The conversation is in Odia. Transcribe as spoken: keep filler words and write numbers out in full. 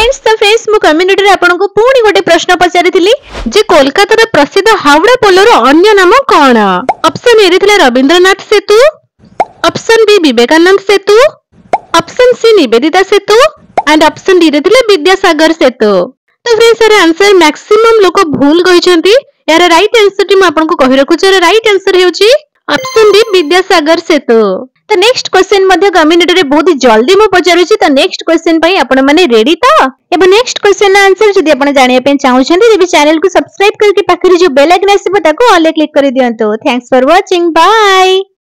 ଫ୍ରେଣ୍ଡସ୍ ତ ଫ୍ରେଣ୍ଡସ୍ ମୁଁ କମ୍ୟୁନିଟିରେ ଆପଣଙ୍କୁ ପୁଣି ଗୋଟେ ପ୍ରଶ୍ନ ପଚାରିଥିଲି ଯେ କୋଲକାତାର ପ୍ରସିଦ୍ଧ ହାୱଡ଼ା ପୋଲର ଅନ୍ୟ ନାମ କଣ ଅପସନ ଏ ରେ ଥିଲା Rabindranath Setu option B Vivekananda Setu option C Nivedita Setu and option D ରେ ଥିଲା ବିଦ୍ୟାସାଗର ସେତୁ ତ ଫ୍ରେଣ୍ଡସ୍ ଏହାର ଆନ୍ସର ମ୍ୟାକ୍ସିମମ୍ ଲୋକ ଭୁଲ କହିଛନ୍ତି ଏହାର ରାଇଟ୍ ଆନ୍ସର ଟି ମୁଁ ଆପଣଙ୍କୁ କହି ରଖୁଛି ଏହାର ରାଇଟ୍ ଆନ୍ସର ହେଉଛି ଅପସନ ଡି ବିଦ୍ୟାସାଗର ସେତୁ ତ ନେକ୍ସଟ କ୍ୱେଶ୍ଚନ ମଧ୍ୟ କମ୍ୟୁନିଟିରେ ବହୁତ ଜଲ୍ଦି ମୁଁ ପଚାରୁଛି ତ ନେକ୍ସଟ କ୍ୱେଶ୍ଚନ ପାଇଁ ଆପଣ ମାନେ ରେଡି ତ ଏବଂ ନେକ୍ସଟ କ୍ୱେଶ୍ଚନ ଆନ୍ସର ଯଦି ଆପଣ ଜାଣିବା ପାଇଁ ଚାହୁଁଛନ୍ତି ତେବେ ଚ୍ୟାନେଲକୁ ସବସ୍କ୍ରାଇବ କରିକି ପାଖରେ ଯୋଉ ବେଲ୍ ଆଇକନ୍ ଆସିବ ତାକୁ ଅଲ୍ କ୍ଲିକ୍ କରିଦିଅନ୍ତୁ Thanks for watching bye